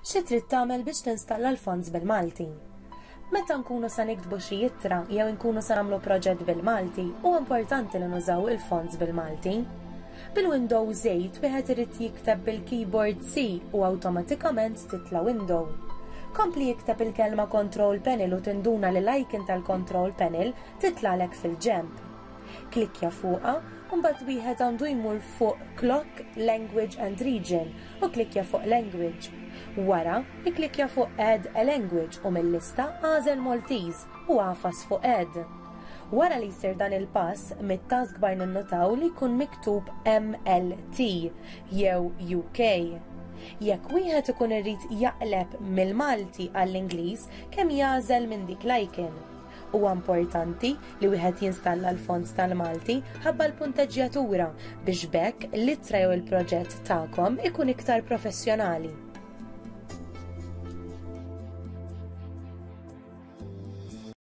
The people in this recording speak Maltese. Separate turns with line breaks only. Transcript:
Xi trid tagħmel biex tinstalla l-fonts bil-Malti? Meta nkunu se niktbu xi ittra jew inkunu se nagħmlu proġett bil-Malti, huwa importanti li nużaw il-fonts bil-Malti. Bil-Windows 8 wieħed irid jikteb bil-keyboard C u awtomatikament titla' window. Kompli ikteb il-kelma Control Panel u tinduna li l-icon tal-Control Panel titlagħlek fil-ġenb. Klikkja fuqha u mbagħad wieħed għandu jmur fuq Clock, Language and Region u klikkja fuq Language. Wara, ikklikkja fuq Add a Language u mil-lista agħżel Maltese u agħfas fuq Add. Wara li jsir dan il-pass, mit-taskbar ninnutaw li jkun miktub MLT jew UK. Jekk wieħed ikun irid jaqleb mill-Malti għall-Ingliż, kemm jagħżel minn dik l-icon. Huwa importanti li wieħed jinstalla l-fonts tal-Malti ħabba l-punteġġjatura biex b'hekk l-ittra jew il-proġett tagħkom ikun iktar professjonali.